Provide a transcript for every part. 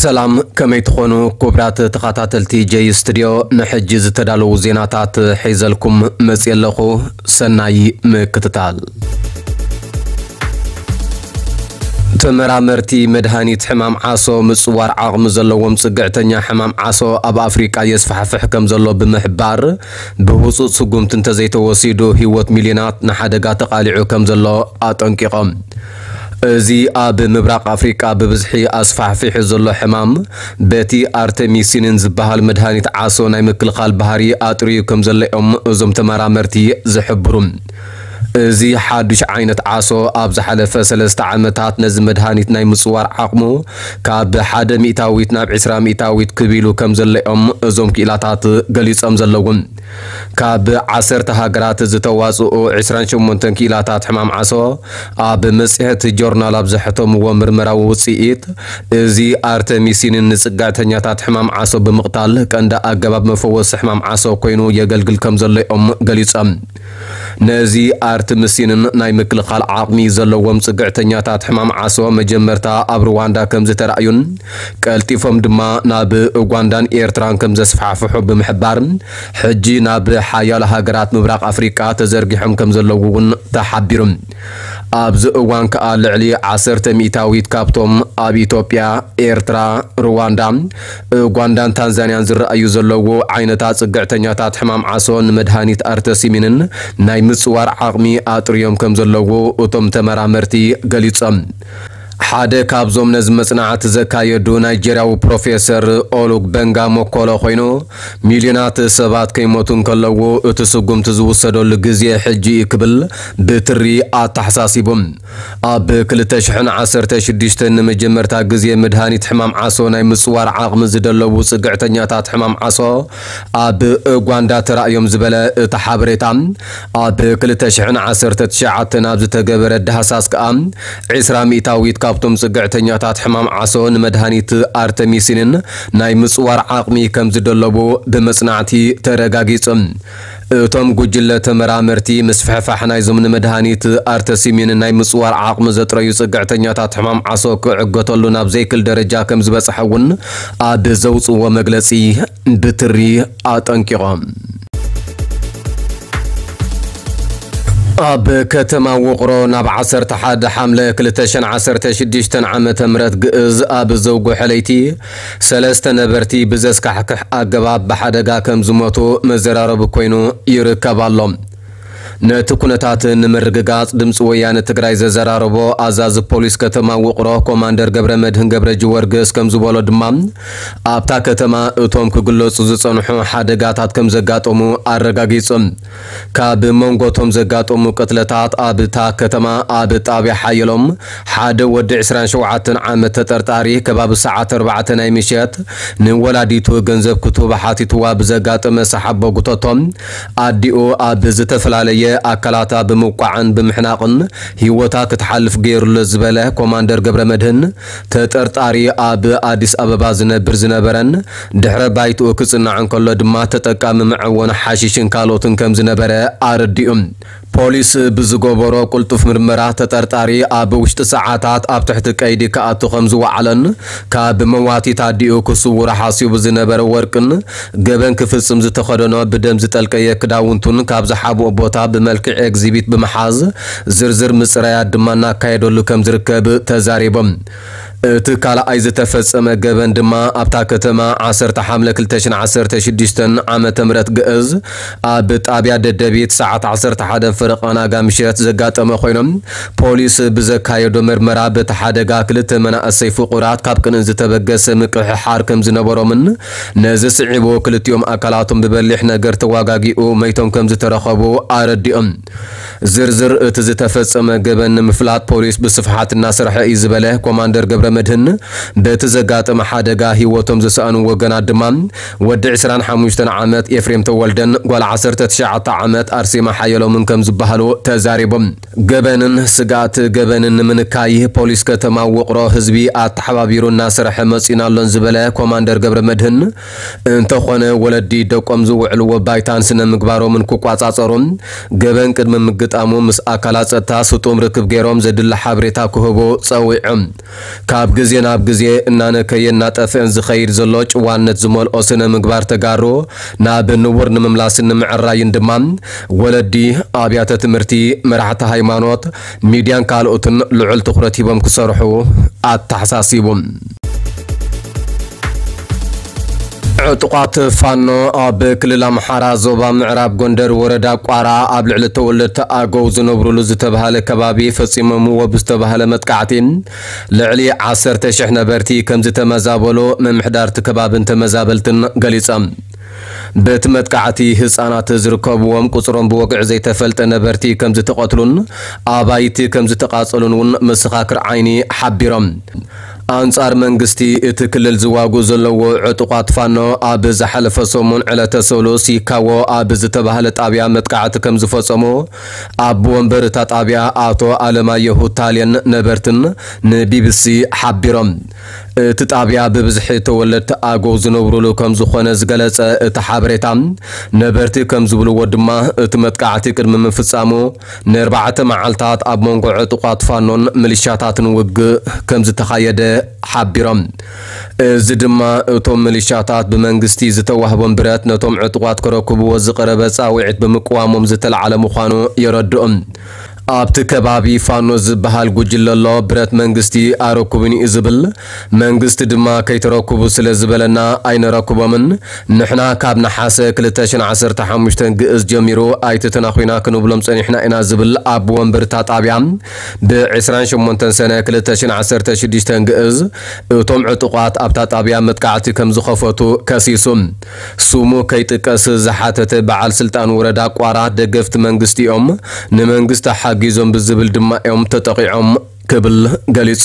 ሰላም፣ ከመይ ትኾኑ ክቡራት ተኸታተልቲ ጀይ ስቱድዮ? ንሕጂ ዝተዳለዉ ዜናታት ሒዘልኩም መፅየ ኣለኹ። ሰናይ ምክትታል። ተመራመርቲ መድሃኒት ሕማም ዓሶ ምጽዋር ዓቕሚ ዘለዎም ጽግዕተኛ ሕማም ዓሶ ኣብ ኣፍሪቃ የስፋሕፍሕ ከም ዘሎ ብምሕባር፣ ብህጹጽ ስጉምቲ እንተዘይተወሲዱ ህይወት ሚልዮናት ንሓደጋ ተቓሊዑ ከም ዘሎ ኣጠንቂቖም። እዚ ኣብ ምብራቕ ኣፍሪቃ ብብዝሒ ኣስፋሕፊሑ ዘሎ ሕማም፣ በቲ ኣርተሚሲንን ዝበሃል መድሃኒት ዓሶ ናይ ምክልኻል ባህሪ ኣጥርዩ ከም ዘሎ እዮም እዞም ተመራመርቲ ዝሕብሩ። እዚ ሓዱሽ ዓይነት ዓሶ ኣብ ዝሓለፈ ሰለስተ ዓመታት ነዚ መድሃኒት ናይ ምጽዋር ዓቕሙ ካብ ሓደ ሚእታዊት ናብ ዕስራ ሚእታዊት ክብ ኢሉ ከም ዘሎ እዮም እዞም ክኢላታት ገሊጾም ዘለዉ። ካብ ዓሰርተ ሃገራት ዝተዋጽኡ ዕስራን ሸሞንተን ክኢላታት ሕማም ዓሶ ኣብ መጽሔት ጆርናል ኣብ ዘሕተምዎ ምርመራዊ ውጽኢት፣ እዚ ኣርተሚሲንን ንጽግዕተኛታት ሕማም ዓሶ ብምቕታል ቀንዲ ኣገባብ መፈወሲ ሕማም ዓሶ ኮይኑ የገልግል ከም ዘሎ እዮም ገሊጾም። ነዚ ኣርተሚሲንን ናይ ምክልኻል ዓቕሚ ዘለዎም ጽግዕተኛታት ሕማም ዓሶ መጀመርታ ኣብ ሩዋንዳ ከም ዝተራእዩን ቀልጢፎም ድማ ናብ ኡጋንዳን ኤርትራን ከም ዘስፋሕፍሑ ብምሕባር፣ ሕጂ ናብ ሓያሎ ሃገራት ምብራቕ ኣፍሪቃ ተዘርጊሖም ከም ዘለዉ እውን ተሓቢሩ። ኣብዚ እዋን ከኣ ልዕሊ ዓሰርተ ሚእታዊት ካብቶም ኣብ ኢትዮጵያ፣ ኤርትራ፣ ሩዋንዳ፣ ኡጋንዳን ታንዛንያን ዝረኣዩ ዘለዉ ዓይነታት ጽግዕተኛታት ሕማም ዓሶ ንመድሃኒት ኣርተሲሚንን ናይ ምጽዋር ዓቕሚ ኣጥርዮም ከም ዘለዉ እቶም ተመራመርቲ ገሊጾም። ሓደ ካብዞም ነዚ መጽናዕቲ ዘካየዱ ናይጀርያዊ ፕሮፌሰር ኦሉግ በንጋ ሞኮሎ ኮይኑ፣ ሚልዮናት ሰባት ከይሞቱ እንከለዉ እቲ ስጉምቲ ዝውሰደሉ ግዜ ሕጂ እዩ ክብል ብትሪ ኣተሓሳሲቡ። ኣብ ክልተ ሽሕን ዓሰርተ ሽዱሽተን ንመጀመርታ ግዜ መድሃኒት ሕማም ዓሶ ናይ ምጽዋር ዓቕሚ ዝደለዉ ጽግዕተኛታት ሕማም ዓሶ ኣብ ኡጋንዳ ተራእዮም ዝበለ እቲ ሓበሬታ፣ ኣብ ክልተ ሽሕን ዓሰርተ ትሽዓተን ኣብ ዝተገበረ ዳህሳስ ከኣ ዕስራ ሚእታዊት ካብቶም ጽግዕተኛታት ሕማም ዓሶ ንመድሃኒት ኣርተሚሲንን ናይ ምጽዋር ዓቕሚ ከም ዝደለቡ ብመጽናዕቲ ተረጋጊጹ። እቶም ጉጅለ ተመራመርቲ ምስፍሕፋሕ ናይዞም ንመድሃኒት ኣርተሲሚን ናይ ምጽዋር ዓቕሚ ዘጥረዩ ጽግዕተኛታት ሕማም ዓሶ ክዕገተሉ ናብ ዘይክል ደረጃ ከም ዝበጽሐ እውን ኣብ ዘውጽዎ መግለጺ ብትሪ ኣጠንቂቖም። ኣብ ከተማ ውቕሮ ናብ ዓሰርተ ሓደ ሓምለ ክልተ ሽሕን ዓሰርተ ሽዱሽተን ዓመተ ምህረት ግእዝ ኣብ ዘውግሐ ለይቲ ሰለስተ ነበርቲ ብዘስካሕክሕ ኣገባብ ብሓደጋ ከም ዝሞቱ መዘራረቢ ኮይኑ ይርከብ ኣሎ። ነቲ ኩነታት ንምርግጋጽ ድምፂ ወያነ ትግራይ ዘዘራረቦ ኣዛዚ ፖሊስ ከተማ ውቕሮ ኮማንደር ገብረ መድህን ገብረ ጅወርግስ ከም ዝበሎ ድማ ኣብታ ከተማ እቶም ክግለጹ ዝጸንሑ ሓደጋታት ከም ዘጋጠሙ ኣረጋጊጹ። ካብ መንጎ እቶም ዘጋጠሙ ቅትለታት ኣብታ ከተማ ኣብ ጣብያ ሓየሎም ሓደ ወዲ ዕስራን ሸውዓተን ዓመት ተጠርጣሪ ከባቢ ሰዓት ኣርባዕተ ናይ ምሸት ንወላዲቱ ገንዘብ ክትህቦ ሓቲትዋ ብዘጋጠመ ሰሓቦ ጉተቶም ኣዲኡ ኣብ ዝተፈላለየ ኣካላታ ብምውቃዕን ብምሕናቕን ህይወታ ክትሓልፍ ገይሩሎ ዝበለ ኮማንደር ገብረ መድህን፣ ተጠርጣሪ ኣብ ኣዲስ ኣበባ ዝነብር ዝነበረን ድሕረ ባይትኡ ክጽናዕ እንከሎ ድማ ተጠቃሚ መዐወኒ ሓሺሽን ካልኦትን ከም ዝነበረ ኣረዲኡ። ፖሊስ ብዝገበሮ ቅልጡፍ ምርመራ፣ ተጠርጣሪ ኣብ ውሽጢ ሰዓታት ኣብ ትሕቲ ቀይዲ ክኣቱ ከም ዝወዓለን፣ ካብ መዋቲት ኣዲኡ ክስውሮ ሓሲቡ ዝነበረ ወርቅን ገበን ክፍጽም ዝተኸደኖ ብደም ዝጠልቀየ ክዳውንቱን ካብ ዝሓብኦ ቦታ ብመልክዕ ኤግዚቢት ብምሓዝ ዝርዝር ምጽራያት ድማ እናካየደሉ ከም ዝርከብ ተዛሪቦም። እቲ ካልኣይ ዝተፈጸመ ገበን ድማ ኣብታ ከተማ ዓሰርተ ሓምለ ክልተ ሽሕን ዓሰርተ ሽዱሽተን ዓመተ ምህረት ግእዝ ኣብ ጣብያ ደደቢት ሰዓት ዓሰርተ ሓደ ፈረቓ ናጋ ምሸት ዘጋጠመ ኮይኖም፣ ፖሊስ ብዘካየዶ ምርመራ በቲ ሓደጋ ክልተ መናእሰይ ፍቑራት ካብ ቅንኢ ዝተበገሰ ምቅሕሓር ከም ዝነበሮምን ነዚ ስዒቡ ክልቲኦም ኣካላቶም ብበሊሕ ነገር ተዋጋጊኡ መይቶም ከም ዝተረኸቡ ኣረዲኦም። ዝርዝር እቲ ዝተፈጸመ ገበን ንምፍላጥ ፖሊስ ብስፍሓት እናሰርሐ እዩ ዝበለ ኮማንደር ገብረ መድህን፣ በቲ ዘጋጠመ ሓደጋ ህይወቶም ዝሰኣኑ ወገናት ድማ ወዲ ዕስራን ሓሙሽተን ዓመት ኤፍሬም ተወልደን ጓል ዓሰርተ ትሽዓተ ዓመት ኣርሴማ ሓየሎምን ከም ዝበሃሉ ተዛሪቦም። ገበንን ስግኣት ገበንን ንምንካይ ፖሊስ ከተማ ውቕሮ ህዝቢ ኣተሓባቢሩ እናሰርሐ መጺኡን ኣሎን ዝበለ ኮማንደር ገብረ መድህን፣ እንተኾነ ወለዲ ደቆም ዝውዕልዎ ባይታን ስነ ምግባሮምን ክቋጻጸሩ፣ ገበን ቅድሚ ምግጣሙ ምስ ኣካላት ጸጥታ ስጡም ርክብ ገይሮም ዘድሊ ሓበሬታ ክህቡ ጸዊዖም። ኣብ ግዜ ናብ ግዜ እናነከየ እናጠፍአን ዝኸይድ ዘሎ ጭዋነት ዝመልኦ ስነ ምግባር ተጋሩ ናብ ንቡር ንምምላስን ንምዕራይን ድማ ወለዲ፣ ኣብያተ ትምህርቲ፣ መራሕቲ ሃይማኖት፣ ሚድያን ካልኦትን ልዑል ትኹረት ሂቦም ክሰርሑ ኣተሓሳሲቡ። ዕጡቓት ፋኖ ኣብ ክልል ኣምሓራ ዞባ ምዕራብ ጎንደር ወረዳ ቋራ ኣብ ልዕሊ ተወለድቲ ኣገው ዝነብሩሉ ዝተባህለ ከባቢ ፈጺሞምዎ ብዝተባህለ መጥቃዕቲ ልዕሊ ዓሰርተ ሽሕ ነበርቲ ከም ዝተመዛበሉ ምምሕዳር እቲ ከባብን ተመዛበልትን ገሊጾም። በቲ መጥቃዕቲ ህጻናት ዝርከብዎም ቁጽሮም ብወግዒ ዘይተፈልጠ ነበርቲ ከም ዝተቐትሉን ኣባይቲ ከም ዝተቓጸሉን እውን መሰኻክር ዓይኒ ሓቢሮም። ኣንጻር መንግስቲ እቲ ክልል ዝዋጉ ዘለዎ ዕጡቓት ፋኖ ኣብ ዝሓለፈ ሰሙን ዕለተ ሰሉስ ይካዎ ኣብ ዝተባህለ ጣብያ መጥቃዕቲ ከም ዝፈጸሙ ኣቦ ወንበር እታ ጣብያ ኣቶ ኣለማየሁ ታልየን ነበርትን ንቢቢሲ ሓቢሮም። እቲ ጣብያ ብብዝሒ ተወለድቲ ኣገው ዝነብሩሉ ከም ዝኾነ ዝገለጸ እቲ ሓበሬታ፣ ነበርቲ ከም ዝብልዎ ድማ እቲ መጥቃዕቲ ቅድሚ ምፍጻሙ ንኣርባዕተ መዓልታት ኣብ መንጎ ዕጡቓት ፋኖን ሚሊሻታትን ውግእ ከም ዝተኻየደ ሓቢሮም። እዚ ድማ እቶም ሚሊሻታት ብመንግስቲ ዝተዋህቦም ብረት ነቶም ዕጡቓት ከረክብዎ ዝቐረበ ጻውዒት ብምቅዋሞም ዝተለዓለ ምዃኑ የረድኡ። ኣብቲ ከባቢ ፋኖ ዝበሃል ጉጅለ ኣሎ፣ ብረት መንግስቲ ኣረኩብን እዩ ዝብል። መንግስቲ ድማ ከይተረክቡ ስለ ዝበለና ኣይነረክቦምን። ንሕና ካብ ነሓሰ ክልተ ሽሕን ዓሰርተ ሓሙሽተን ግእዝ ጀሚሩ ኣይትተናኹና ክንብሎም ጸኒሕና ኢና ዝብል ኣቦ ወንበር እታ ጣብያ ብ ዕስራን ሸሞንተን ሰነ ክልተ ሽሕን ዓሰርተ ሽዱሽተን ግእዝ እቶም ዕጡቓት ኣብታ ጣብያ መጥቃዕቲ ከም ዝኸፈቱ ከሲሱ። ስሙ ከይጥቀስ ዝሓተተ በዓል ስልጣን ወረዳ ቋራ ደገፍቲ መንግስቲ እዮም፣ ንመንግስቲ ሓጊዞም ብዝብል ድማ እዮም ተጠቒዖም ክብል ገሊጹ።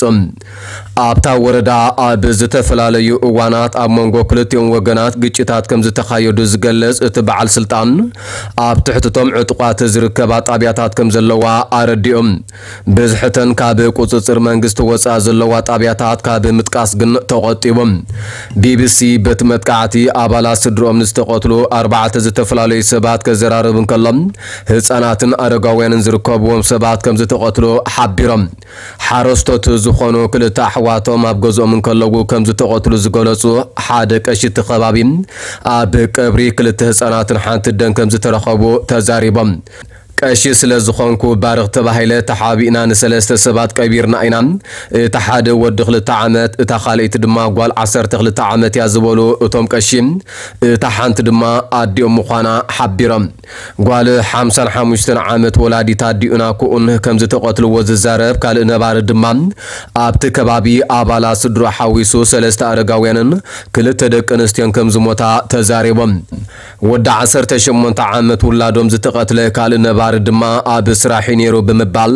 ኣብታ ወረዳ ኣብ ዝተፈላለዩ እዋናት ኣብ መንጎ ክልቲኦም ወገናት ግጭታት ከም ዝተኻየዱ ዝገልጽ እቲ በዓል ስልጣን፣ ኣብ ትሕቲ እቶም ዕጡቓት ዝርከባ ጣብያታት ከም ዘለዋ ኣረዲኡ። ብዝሕተን ካብ ቁጽጽር መንግስቲ ወጻኢ ዘለዋ ጣብያታት ካብ ምጥቃስ ግን ተቖጢቡ። ቢቢሲ በቲ መጥቃዕቲ ኣባላት ስድርኦም ንዝተቐትሉ ኣርባዕተ ዝተፈላለዩ ሰባት ከዘራርብ እንከሎ፣ ህጻናትን ኣረጋውያንን ዝርከብዎም ሰባት ከም ዝተቐትሉ ሓቢሮም። ሓረስቶት ዝኾኑ ክልተ ኣሕዋቶም ኣብ ገዝኦም እንከለዉ ከም ዝተቐትሉ ዝገለጹ ሓደ ቀሺ እቲ ከባቢ፣ ኣብ ቀብሪ ክልተ ህጻናትን ሓንቲ ኣደን ከም ዝተረኸቡ ተዛሪቦም። ቀሺ ስለ ዝኾንኩ ባርኽ ተባሂለ ተሓቢእና ንሰለስተ ሰባት ቀቢርና ኢና። እቲ ሓደ ወዲ ክልተ ዓመት፣ እታ ካልኣይቲ ድማ ጓል ዓሰርተ ክልተ ዓመት እያ ዝበሉ እቶም ቀሺ፣ እታ ሓንቲ ድማ ኣዲኦም ምዃና ሓቢሮም። ጓል ሓምሳን ሓሙሽተን ዓመት ወላዲት ኣዲኡን ኣኩኡን ከም ዝተቐትልዎ ዝዛረብ ካልእ ነባሪ ድማ፣ ኣብቲ ከባቢ ኣባላት ስድሮ ሓዊሱ ሰለስተ ኣረጋውያንን ክልተ ደቂ ኣንስትዮን ከም ዝሞታ ተዛሪቦም። ወዲ ዓሰርተ ሸሞንተ ዓመት ውላዶም ዝተቐትለ ካልእ ነባሪ ድማ ኣብ ስራሕ እዩ ነይሩ ብምባል፣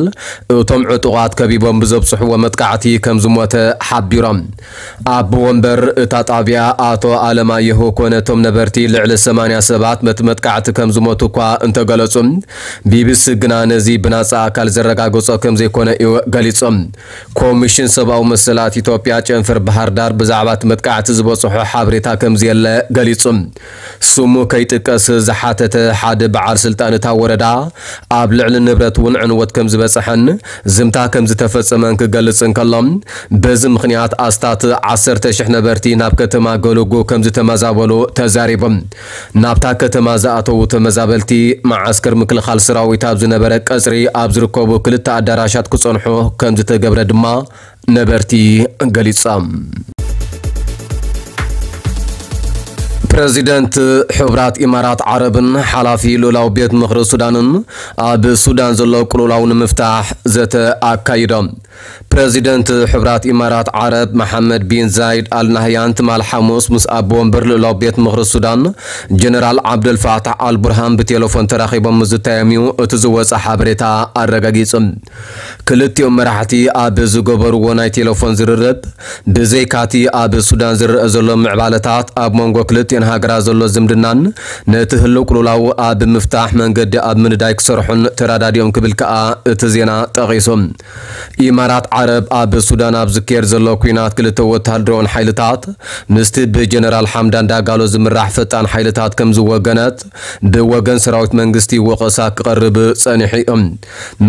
እቶም ዕጡቓት ከቢቦም ብዘብጽሕዎ መጥቃዕቲ ከም ዝሞተ ሓቢሮም። ኣቦ ወንበር እታ ጣብያ ኣቶ ኣለማየሁ ኮነ እቶም ነበርቲ ልዕሊ ሰማንያ ሰባት በቲ መጥቃዕቲ ከም ዝሞቱ እኳ እንተገለጹ፣ ቢቢሲ ግና ነዚ ብናጻ ኣካል ዘረጋገጾ ከም ዘይኮነ እዩ ገሊጹ። ኮሚሽን ሰብኣዊ መሰላት ኢትዮጵያ ጨንፈር ባህር ዳር ብዛዕባ እቲ መጥቃዕቲ ዝበጽሖ ሓበሬታ ከም ዘየለ ገሊጹ። ስሙ ከይጥቀስ ዝሓተተ ሓደ በዓል ስልጣን እታ ወረዳ፣ ኣብ ልዕሊ ንብረት እውን ዕንወት ከም ዝበጽሐን ዝምታ ከም ዝተፈጸመን ክገልጽ እንከሎ፣ በዚ ምኽንያት ኣስታት ዓሰርተ ሽሕ ነበርቲ ናብ ከተማ ገለጎ ከም ዝተመዛበሉ ተዛሪቦም። ናብታ ከተማ ዝኣተዉ ተመዛበልቲ፣ መዓስከር ምክልኻል ሰራዊት ኣብ ዝነበረ ቀጽሪ ኣብ ዝርከቡ ክልተ ኣዳራሻት ክጸንሑ ከም ዝተገብረ ድማ ነበርቲ ገሊጾም። ፕረዚደንት ሕቡራት ኢማራት ዓረብን ሓላፊ ልኡላዊ ቤት ምኽሪ ሱዳንን ኣብ ሱዳን ዘሎ ቅልውላው ንምፍታሕ ዘተ ኣካይዶም። ፕረዚደንት ሕቡራት ኢማራት ዓረብ መሓመድ ቢን ዛይድ ኣል ናህያን ትማል ሓሙስ ምስ ኣቦ ወንበር ልኡላዊ ቤት ምኽሪ ሱዳን ጀነራል ዓብደልፋታሕ ኣል ቡርሃን ብቴሌፎን ተራኺቦም ምዝታዮም እዩ እቲ ዝወጸ ሓበሬታ ኣረጋጊጹ። ክልቲኦም መራሕቲ ኣብ ዝገበርዎ ናይ ቴሌፎን ዝርርብ፣ ብዘይካቲ ኣብ ሱዳን ዝረአ ዘሎ ምዕባለታት፣ ኣብ መንጎ ክልቲኦን ሃገራት ዘሎ ዝምድናን ነቲ ህልው ቅልውላው ኣብ ምፍታሕ መንገዲ ኣብ ምንዳይ ክሰርሑን ተራዳዲኦም ክብል ከኣ እቲ ዜና ጠቒሱ። ኢማራት ዓረብ ኣብ ሱዳን ኣብ ዝካየድ ዘሎ ኲናት ክልተ ወታደራውን ሓይልታት ምስቲ ብጀነራል ሓምዳን ዳጋሎ ዝምራሕ ፈጣን ሓይልታት ከም ዝወገነት ብወገን ሰራዊት መንግስቲ ወቐሳ ክቐርብ ጸኒሑ እዩ።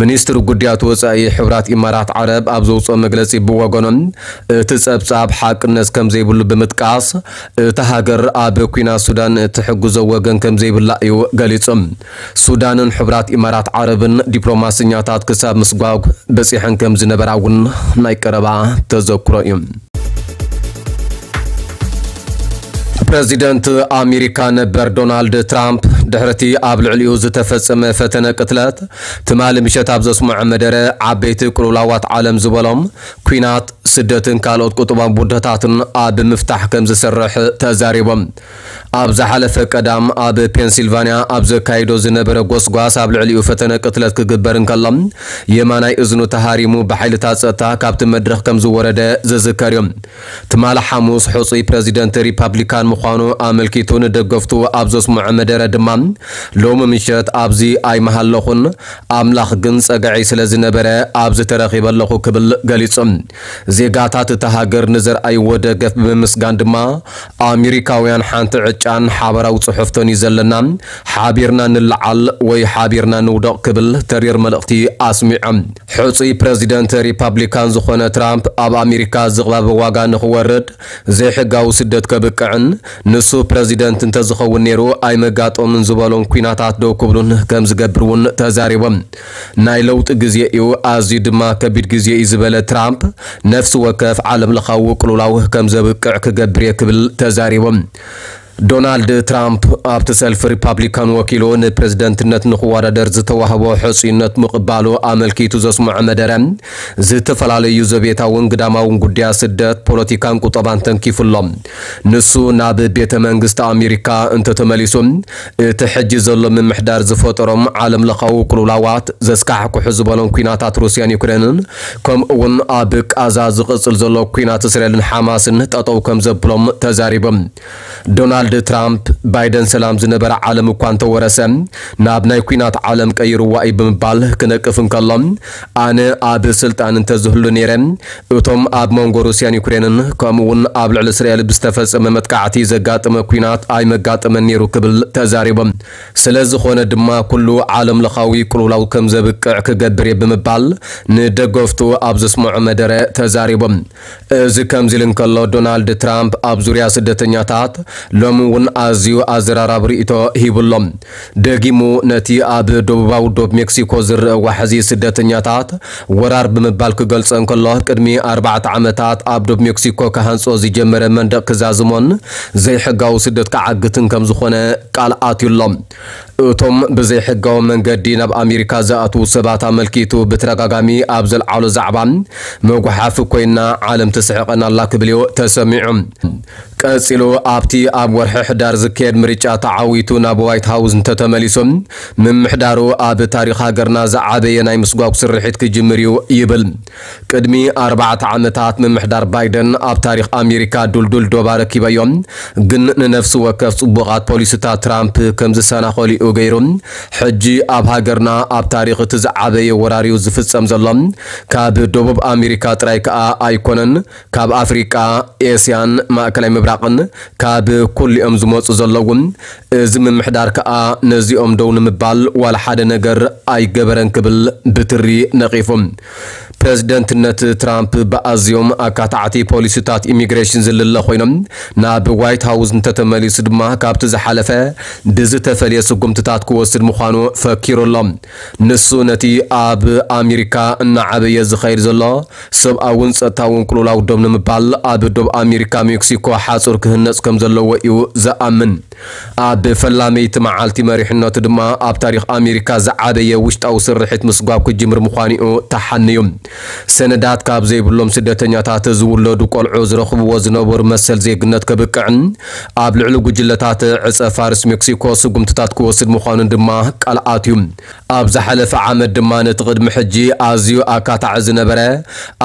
ሚኒስትሪ ጉዳያት ወጻኢ ሕቡራት ኢማራት ዓረብ ኣብ ዘውፅኦ መግለጺ ብወገኖም እቲ ጸብጻብ ሓቅነት ከም ዘይብሉ ብምጥቃስ እታ ሃገር ኣብ ኲናት ሱዳን ትሕግዞ ወገን ከም ዘይብላ እዩ ገሊጹ። ሱዳንን ሕቡራት ኢማራት ዓረብን ዲፕሎማሰኛታት ክሳብ ምስጓግ በጺሐን ከም ዝነበራ እውን ናይ ቀረባ ተዘክሮ እዩ። ፕረዚደንት ኣሜሪካ ነበር ዶናልድ ትራምፕ ድሕርቲ ኣብ ልዕሊኡ ዝተፈጸመ ፈተነ ቅትለት ትማሊ ምሸት ኣብ ዘስምዖ መደረ ዓበይቲ ቅልውላዋት ዓለም ዝበሎም ኲናት፣ ስደትን ካልኦት ቁጠባዊ ቡድታትን ኣብ ምፍታሕ ከም ዝሰርሕ ተዛሪቦም። ኣብ ዝሓለፈ ቀዳም ኣብ ፔንሲልቫንያ ኣብ ዘካይዶ ዝነበረ ጎስጓስ ኣብ ልዕሊኡ ፈተነ ቅትለት ክግበር እንከሎ የማናይ እዝኑ ተሃሪሙ ብሓይልታት ጸጥታ ካብቲ መድረኽ ከም ዝወረደ ዝዝከር እዩ። ትማሊ ሓሙስ ሕጹይ ፕረዚደንት ሪፓብሊካን ምዃኑ ኣመልኪቱ ንደገፍቱ ኣብ ዘስምዖ መደረ ድማ ሎሚ ምሸት ኣብዚ ኣይመሃለኹን፣ ኣምላኽ ግን ጸግዒ ስለ ዝነበረ ኣብዚ ተረኺበ ኣለኹ ክብል ገሊጹ። ዜጋታት እታ ሃገር ንዘርኣይዎ ደገፍ ብምምስጋን ድማ ኣሜሪካውያን ሓንቲ ዕጫን ሓበራዊ ጽሑፍቶን እዩ ዘለና፣ ሓቢርና ንለዓል ወይ ሓቢርና ንውደቕ ክብል ተሪር መልእኽቲ ኣስሚዖም። ሕጹይ ፕረዚደንት ሪፓብሊካን ዝኾነ ትራምፕ ኣብ ኣሜሪካ ዝቕባበ ዋጋ ንኽወርድ ዘይሕጋዊ ስደት ከብቅዕን ንሱ ፕረዚደንት እንተዝኸውን ነይሩ ኣይመጋጠምን ዝበሎም ኲናታት ደው ክብሉን ከም ዝገብር እውን ተዛሪቦም። ናይ ለውጢ ግዜ እዩ፣ ኣዝዩ ድማ ከቢድ ግዜ እዩ ዝበለ ትራምፕ ነፍሲ ወከፍ ዓለም ለኻዊ ቅልውላው ከም ዘብቅዕ ክገብር እየ ክብል ተዛሪቦም። ዶናልድ ትራምፕ ኣብቲ ሰልፊ ሪፓብሊካን ወኪሉ ንፕረዚደንትነት ንክወዳደር ዝተዋህቦ ሕጹይነት ምቕባሉ ኣመልኪቱ ዘስምዖ መደረ ዝተፈላለዩ ዘቤታውን ግዳማውን ጉዳያት ስደት፣ ፖለቲካን ቁጠባን ተንኪፉ ኣሎ። ንሱ ናብ ቤተ መንግስቲ ኣሜሪካ እንተተመሊሱ እቲ ሕጂ ዘሎ ምምሕዳር ዝፈጠሮም ዓለም ለኻዊ ቅልውላዋት ዘስካሕክሑ ዝበሎም ኲናታት ሩስያን ዩክሬንን ከምኡ እውን ኣብ ቃዛ ዝቕጽል ዘሎ ኲናት እስራኤልን ሓማስን ጠጠው ከም ዘብሎም ተዛሪቦም። ዶናልድ ትራምፕ ባይደን ሰላም ዝነበረ ዓለም እኳ እንተወረሰ ናብ ናይ ኲናት ዓለም ቀይርዋ እዩ ብምባል ክነቅፍ እንከሎ ኣነ ኣብ ስልጣን እንተዝህሉ ነይረ እቶም ኣብ መንጎ ሩስያን ዩክሬንን ከምኡ እውን ኣብ ልዕሊ እስራኤል ብዝተፈጸመ መጥቃዕቲ ዘጋጠመ ኲናት ኣይመጋጠመን ነይሩ ክብል ተዛሪቦም። ስለ ዝኾነ ድማ ኩሉ ዓለም ለኻዊ ቅልውላው ከም ዘብቅዕ ክገብር እየ ብምባል ንደገፍቱ ኣብ ዘስምዖ መደረ ተዛሪቦም። እዚ ከምዚ ኢሉ እንከሎ ዶናልድ ትራምፕ ኣብ ዙርያ ስደተኛታት ሎሚ እውን ኣዝዩ ኣዘራራቢ ርእይቶ ሂቡ ኣሎ። ደጊሙ ነቲ ኣብ ደቡባዊ ዶብ ሜክሲኮ ዝረአ ዋሕዚ ስደተኛታት ወራር ብምባል ክገልጾ እንከሎ ቅድሚ ኣርባዕተ ዓመታት ኣብ ዶብ ሜክሲኮ ክሃንጾ ዝጀመረ መንደቕ ክዛዝሞን ዘይሕጋዊ ስደት ክዓግትን ከም ዝኾነ ቃል ኣትዩ ኣሎ። እቶም ብዘይሕጋዊ መንገዲ ናብ ኣሜሪካ ዝኣትዉ ሰባት ኣመልኪቱ ብተደጋጋሚ ኣብ ዘልዓሎ ዛዕባ መጉሓፊ ኮይና ዓለም ትስሕቐና ኣላ ክብል እዩ ተሰሚዑ። ቀጺሉ ኣብቲ ኣብ ወርሒ ሕዳር ዝካየድ ምርጫ ተዓዊቱ ናብ ዋይት ሃውስ እንተተመሊሱ ምምሕዳሩ ኣብ ታሪኽ ሃገርና ዝዓበየ ናይ ምስጓጉ ስርሒት ክጅምር እዩ ይብል። ቅድሚ ኣርባዕተ ዓመታት ምምሕዳር ባይደን ኣብ ታሪኽ ኣሜሪካ ዱልዱል ዶባ ረኪበዮም፣ ግን ንነፍሲ ወከፍ ጽቡቓት ፖሊሲታት ትራምፕ ከም ዝሰናኸሉ እዩ ገይሩ። ሕጂ ኣብ ሃገርና ኣብ ታሪኽ እቲ ዝዓበየ ወራር እዩ ዝፍጸም ዘሎ። ካብ ደቡብ ኣሜሪካ ጥራይ ከኣ ኣይኮነን፣ ካብ ኣፍሪቃ፣ ኤስያን ማእከላይ ምብራቕን ካብ ኩሊኦም ዝመጹ ዘለዉ። እዚ ምምሕዳር ከኣ ነዚኦም ደው ንምባል ዋላ ሓደ ነገር ኣይገበረን ክብል ብትሪ ነቒፉ። ፕረዚደንትነት ትራምፕ ብኣዝዮም ኣካታዕቲ ፖሊሲታት ኢሚግሬሽን ዝልለ ኮይኖም ናብ ዋይት ሃውስ እንተተመሊሱ ድማ ካብቲ ዝሓለፈ ብዝተፈልየ ስጉምትታት ክወስድ ምዃኑ ፈኪሩ ኣሎ። ንሱ ነቲ ኣብ ኣሜሪካ እናዓበየ ዝኸይድ ዘሎ ሰብኣውን ጸጥታውን ቅልውላው ደው ንምባል ኣብ ዶብ ኣሜሪካ ሜክሲኮ ሓጹር ክህነጽ ከም ዘለዎ እዩ ዝኣምን። ኣብ ፈላመይቲ መዓልቲ መሪሕነቱ ድማ ኣብ ታሪኽ ኣሜሪካ ዝዓበየ ውሽጣዊ ስርሒት ምስጓብ ክጅምር ምዃኑ እዩ ተሓንዩ። ሰነዳት ካብ ዘይብሎም ስደተኛታት ዝውለዱ ቆልዑ ዝረኽብዎ ዝነበሩ መሰል ዜግነት ከብቅዕን ኣብ ልዕሊ ጉጅለታት ዕጸ ፋርስ ሜክሲኮ ስጉምትታት ክወስድ ምዃኑን ድማ ቃል ኣትዩ። ኣብ ዝሓለፈ ዓመት ድማ ነቲ ቅድሚ ሕጂ ኣዝዩ ኣካታዒ ዝነበረ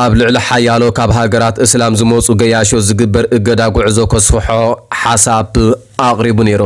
ኣብ ልዕሊ ሓያሎ ካብ ሃገራት እስላም ዝመጹ ገያሾ ዝግበር እገዳ ጉዕዞ ከስፍሖ ሓሳብ ኣቕሪቡ ነይሩ።